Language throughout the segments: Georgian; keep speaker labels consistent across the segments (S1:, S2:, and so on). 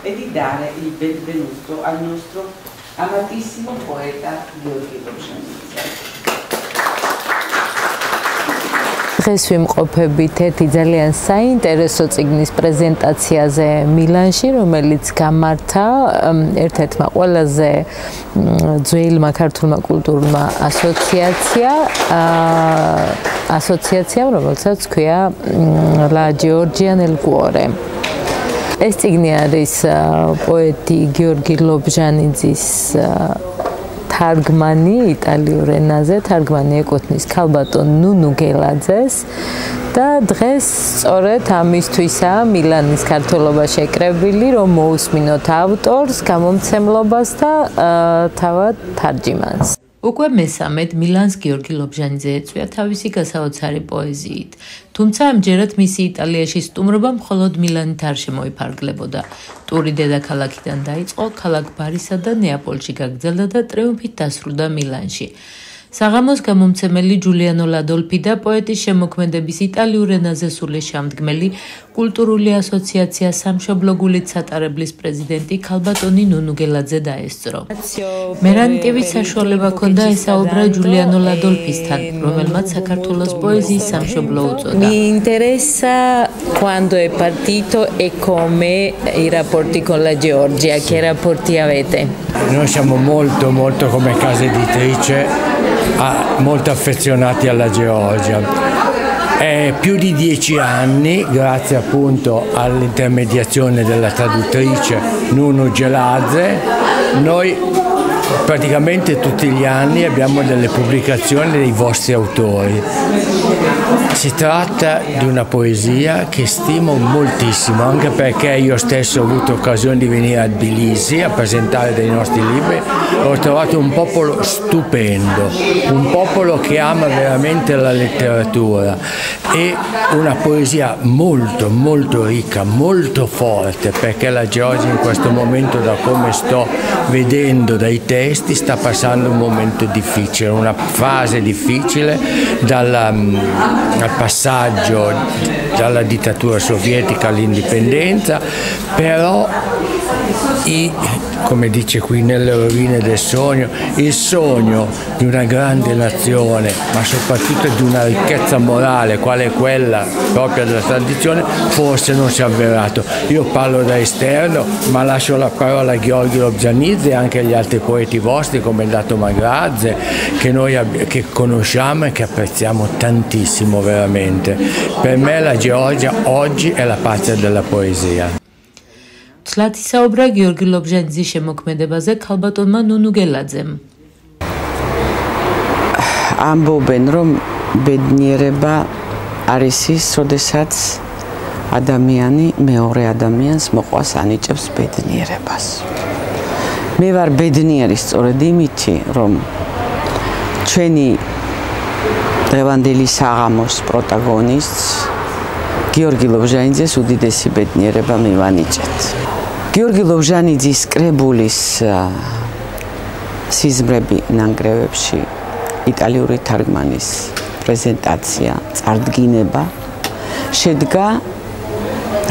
S1: e di dare il benvenuto al nostro amatissimo poeta Giorgi Lobzhanidze.
S2: დღეს ვიმყოფებით ერთი ძალიან საინტერესო წიგნის პრეზენტაციაზე მილანში, რომელიც გამართა ერთ-ერთმა ყველაზე ძველმა ქართულმა კულტურულმა ასოციაციამ, რომელსაც ჰქვია La Georgia nel cuore. ეს წიგნი არის პოეტი გიორგი ლობჟანიძის თარგმანი იტალიურ ენაზე, თარგმანი ეკუთვნის ქალბატონ ნუნუ გელაძეს და დღეს სწორედ ამისთვისაა მილანის ქართველობა შეკრებილი, რომ მოусმინოთ ავტორს, გამომცემლობას და თავად თარჯიმანს. უკვე მესამედ მილანს გიორგი ლობჟანიძე ეწვია თავისი გასაოცარი პოეზიით. თუმცა ამჯერად მისი იტალიაში სტუმრობა მხოლოდ მილანით არ შემოიფარგლებოდა. ტური დედაქალაქიდან დაიწყო, ქალაქ ბარისა და ნეაპოლში გაგრძელდა და ტრიუმფით დასრულდა მილანში. საღამოს გამომცემელი ჯულიანო ლადოლფი და პოეტის შემოქმედების იტალიურ ენაზე სული შემდგმელი კულტურული ასოციაცია სამშობლო გულით სატარებლის პრეზიდენტი ქალბატონი ნუნუ გელაძე დაესწრო. მერანტივის საშუალება ჰქონდა ესაუბრა ჯულიანო ლადოლფისთან, რომელმაც საქართველოს პოეზიის სამშობლო უწოდა. Mi interessa quando è partito e come i rapporti con la Georgia, che rapporti avete?
S3: Noi siamo molto come casa editrice molto affezionati alla Georgia. È più di 10 anni, grazie appunto all'intermediazione della traduttrice Nunu Geladze, noi praticamente tutti gli anni abbiamo delle pubblicazioni dei vostri autori. Si tratta di una poesia che stimo moltissimo, anche perché io stesso ho avuto occasione di venire a Tbilisi a presentare dei nostri libri. Ho trovato un popolo stupendo, un popolo che ama veramente la letteratura e una poesia molto ricca, molto forte, perché la Georgia in questo momento, da come sto vedendo dai testi, sta passando un momento difficile, una fase difficile dal passaggio dalla dittatura sovietica all'indipendenza, però come dice qui nelle rovine del sogno, il sogno di una grande nazione, ma soprattutto di una ricchezza morale, quale è quella propria della tradizione, forse non si è avverato. Io parlo da esterno, ma lascio la parola a Giorgi Lobzhanidze e anche agli altri poeti vostri come Dato Magrazze, che conosciamo e che apprezziamo tantissimo veramente. Per me la Georgia oggi è la patria della poesia.
S2: ცლად ისაუბრა გიორგი ლობჟანიძის შემოქმედებაზე ქალბატონმა ნუნუ გელაძემ.
S4: ამბობენ, რომ ბედნიერება არის ის, როდესაც ადამიანი მეორე ადამიანს მოყვას ანიჭებს ბედნიერებას. მე ვარ ბედნიერი სწორედ იმითი, რომ ჩვენი დღევანდელი საღამოს პროტაგონისტს გიორგი ლობჟანიძეს უდიდესი ბედნიერება მივანიჭეთ. გიორგი ლობჟანიძის კრებულის სიზმრები ნანგრევებში იტალიური თარგმანის პრეზენტაცია, წარდგინება შედგა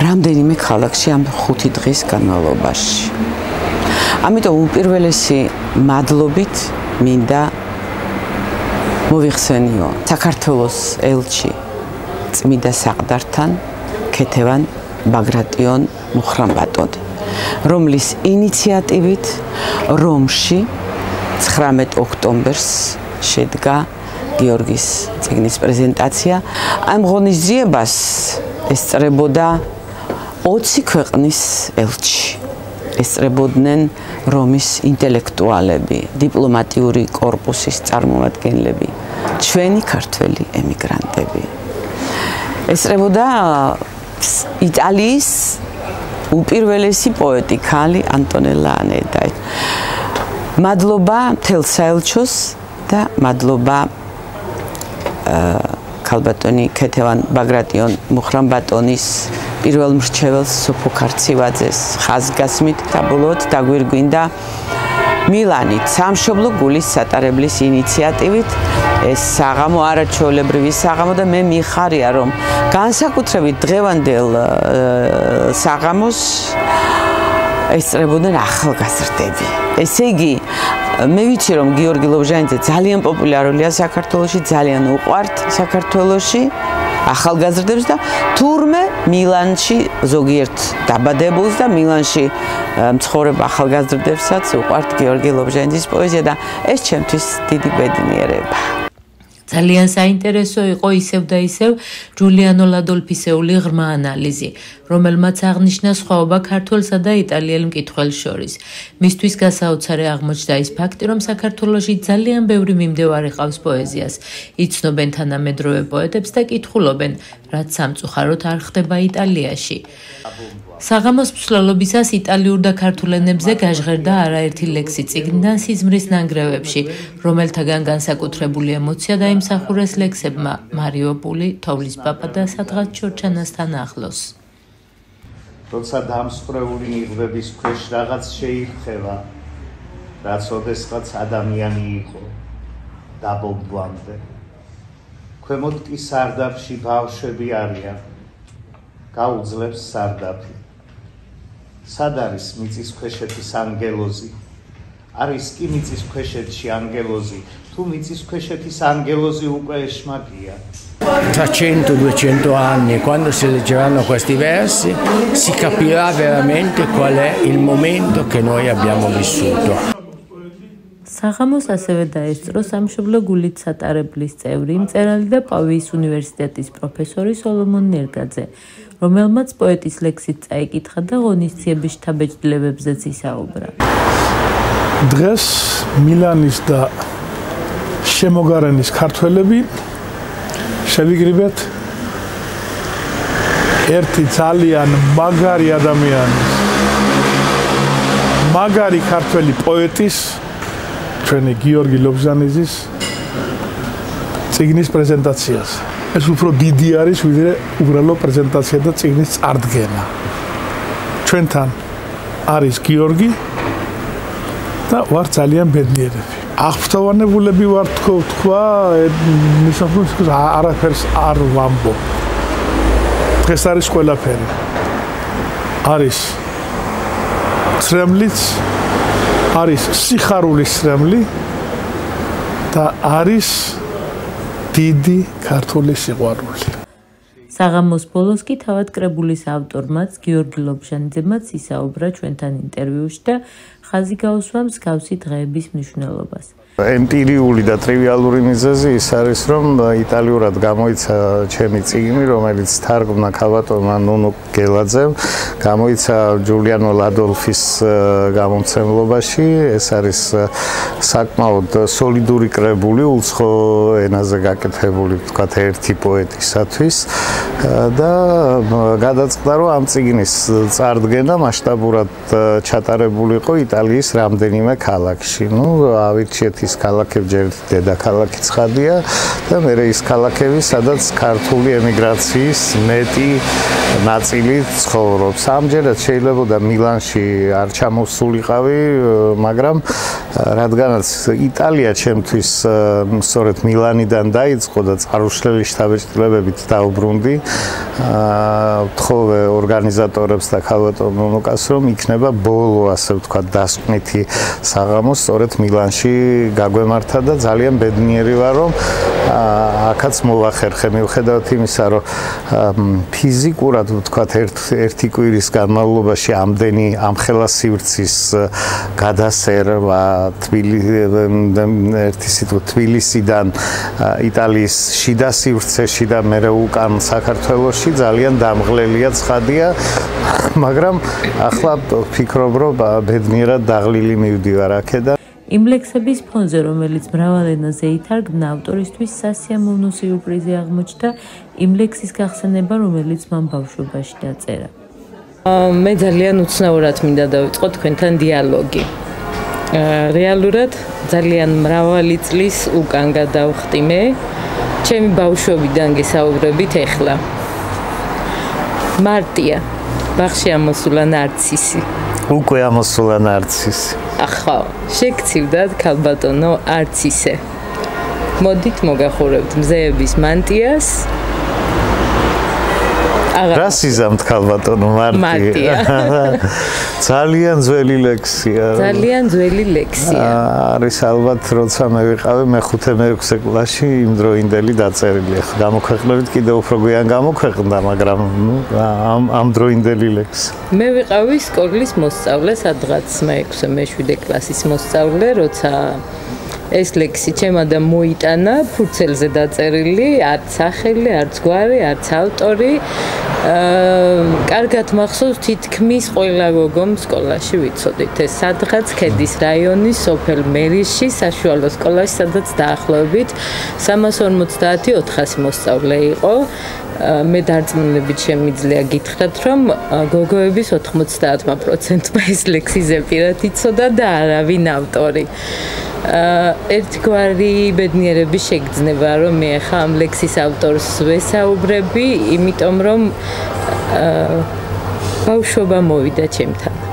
S4: რამდენიმე ქალაქში ამ 5 დღის განმავლობაში. ამიტომ უპირველესი მადლობით მინდა მოვიხსენიო საქართველოს ელჩი წმიდა საყდართან ქეთევან ბაგრატიონ მუხრამბატონი, რომლის ინიციატივით რომში 19 ოქტომბერს შედგა გიორგის წიგნის პრეზენტაცია. ამ ღონისძიებას ესწრებოდა 20 ქვეყნის ელჩი. ესწრებოდნენ რომის ინტელექტუალები, დიპლომატიური კორპუსის წარმომადგენლები, ჩვენი ქართველი ემიგრანტები. ესწრებოდა იტალიის უპირველესი პოეტი ქალი ანტონელა ანედა. მადლობა მთელ საელჩოს და მადლობა ქალბატონი ქეთევან ბაგრატიონ მუხრამბატონის პირველ მრჩეველს სოფო ქარცივაძეს ხაზგასმით და ბოლოდ დაგვირგვინდა მილანით სამშობლო გულის სატარებლის ინიციატივით ეს საღამო არაჩვეულებრივი საღამო და მე მიხარია რომ განსაკუთრებით დღევანდელ საღამოს ესწრებოდნენ ახალგაზრდები. ესე იგი, მე ვიცი რომ გიორგი ლობჟანიძე ძალიან პოპულარულია საქართველოში, ძალიან უყვართ საქართველოში ახალგაზრდებს და თურმე მილანში ზოგიერთ დაბადებულს და მილანში მცხოვრებ ახალგაზრდებსაც უყვართ გიორგი ლობჟანიძის პოეზია და ეს ჩემთვის დიდი ბედნიერება.
S2: ძალიან საინტერესო იყო ისევ და ისევ ჯულიანო ლადოლფისეული ღრმა ანალიზი, რომელმაც აღნიშნა სხვაობა ქართველსა და იტალიელ მკითხველს შორის. მისთვის გასაოცარი აღმოჩნდა ის ფაქტი, რომ საქართველოში ძალიან ბევრი მიმდევარი ყავს პოეზიას. იცნობენ თანამედროვე პოეტებს და კითხულობენ, რაც სამწუხაროდ არ ხდება იტალიაში. საღამოს მსვლელობისას იტალიურ და ქართულ ენებზე გაჟღერდა არაერთი ლექსი წიგნიდან სიზმრის ნანგრევებში, რომელთაგან განსაკუთრებული ემოცია დაიმსახურეს ლექსებმა მარიოპული, თოვლის პაპა და სადღაც ჩორჩანასთან ახლოს.
S5: როცა დამსხვრეული ნიღბების ქვეშ რაღაც შეირხევა, რაც ოდესღაც ადამიანი იყო, დაბომბვამდე. ქვემოთ კი სარდაფში ბავშვები არიან, გაუძლებს სარდაფი. სად არის მიწისქვეშეთის ანგელოზი? არის კი მიწისქვეშეთში ანგელოზი, tu mitsisquescetis angelosi uque esmagia.
S3: Tra 100-200 anni, quando si leggeranno questi versi, si capirà veramente qual è il momento che noi abbiamo vissuto.
S2: საღამოს ასევე დაესწრო სამშობლო გულით სატარებლის წევრი, მწერალი და პავიის უნივერსიტეტის პროფესორი სოლომონ ნერგაძე, რომელმაც პოეტის ლექსით წაიკითხა და ღონისძიების შთაბეჭდილებებზეც ისაუბრა.
S6: დღეს მილანის და შემოგარენის ქართველები შევიგრიბეთ ერთი ძალიან მაგარი ადამიანის, მაგარი ქართველი პოეტის, ჩვენი გიორგი ლობჟანიძის წიგნის პრეზენტაციას. ეს უფრო დიდი არის, ვიდრე უბრალო პრეზენტაცია და წიგნის წარდგენა. ჩვენთან არის გიორგი და ვარ ძალიან ბედნიერები. აღფრთოვანებულები ვარ თქვა, მისახვნის არაფერს არ ვამბობ. დღეს არის ყველაფერი. არის ცრემლიც, არის სიხარულის ცრემლი და არის დიდი ქართული სიყვარული.
S2: საღამოს ბოლოს კი თავად კრებულის ავტორმაც გიორგი ლობჟანიძემაც ისაუბრა ჩვენთან ინტერვიუში და ხაზი გაუსვა მსგავსი დღეების მნიშვნელობას.
S5: ემპირიული და ტრივიალური მიზეზი ის არის, რომ იტალიურად გამოიცა ჩემი წიგნი, რომელიც თარგმნა ქალბატონმა ნუნუ გელაძემ, გამოიცა ჯულიანო ლადოლფის გამომცემლობაში. ეს არის საკმაოდ სოლიდური კრებული, უცხო ენაზე გაკეთებული, ვთქვათ, ერთი პოეტისათვის და გადაწყდა, რომ ამ წიგნის წარდგენა მასშტაბურად ჩატარებული იყო იტალიის რამდენიმე ქალაქში. ავირჩიეთ ის ქალაქები, ჯერ დედაქალაქი ცხადია და მერე ის ქალაქები, სადაც ქართული ემიგრაციის მეტი ნაწილი ცხოვრობს. ამჯერად შეიძლება მილანში არ ჩამოსულიყავი, მაგრამ რადგანაც იტალია ჩემთვის სწორედ მილანიდან დაიწყო და წარუშლელი შთაბეჭდილებებით დაუბრუნდი, ვთხოვე ორგანიზატორებს და ქალბატონ ნუნუკას, რომ იქნება ბოლო, ასე ვთქვათ, დასკვნითი საღამო სწორედ მილანში გაგვემართა და ძალიან ბედნიერი ვარ, რომ აქაც მოვახერხე, მიუხედავად იმისა, რომ ფიზიკურად ვთქვათ ერთი კვირის განმავლობაში ამდენი ამხელა სივრცის გადასერვა თბილისიდან იტალიის შიდა სივრცეში და მერე უკან საქართველოში ძალიან დამღლელია, ცხადია, მაგრამ ახლა ვფიქრობ, რომ ბედნიერად დაღლილი მივდივარ აქედან.
S2: იმ ლექსების ფონზე, რომელიც მრავალ ენაზე ითარგმნა, ავტორისთვის სასიამოვნო სიურპრიზი აღმოჩნდა იმ ლექსის გახსენება, რომელიც მან ბავშვობაში დაწერა. მე ძალიან უცნაურად მინდა დავიწყო თქვენთან დიალოგი. რეალურად ძალიან მრავალი წლის უკან გადავხდი მე, ჩემი ბავშვობიდან გესაუბრებით ეხლა. მარტია, ბაღში ამოსულა ნარცისი.
S5: უკვე ამოსულა ნარცისი.
S2: ახლა შეგცივდათ ქალბატონო არცისე. მოდით მოგახურებთ მზეების მანტიას
S5: რა სიზამთ ქალბატონო მარტია. ძალიან ძველი ლექსია.
S2: ძალიან ძველი ლექსია.
S5: არის ალბათ როცა მე ვიყავი მე-5-6 კლასში იმდროინდელი დაწერილი. ახლა გამოქვეყნებით კიდევ უფრო გვიან გამოქვეყნდა, მაგრამ ამ დროინდელი ლექსი.
S2: მე ვიყავი სკოლის მოსწავლე, სადღაც მე-6-მე-7 კლასის მოსწავლე, როცა ეს ლექსი ჩემადა მოიტანა, ფურცელზე დაწერილი, არც სახელი, არც გვარი, არც ავტორი. კარგად მახსოვს, თითქმის ყველა გოგომ სკოლაში ვიცოდით. ეს სადღაც ქედის რაიონის სოფელ მერიშში, საშუალო სკოლაში, სადაც დაახლოებით 350-400 მოსწავლე იყო. მე დარწმუნებით შემიძლია გითხრათ, რომ გოგოების 90%-მა ეს ლექსი ზეპირად იცოდა და არავინ ავტორი. ერთგვარი ბედნიერები შეგრძნება, რომ მე ახლა ამ ლექსის ავტორს ვესაუბრები, იმიტომ რომ ბავშვობა მოვიდა ჩემთან.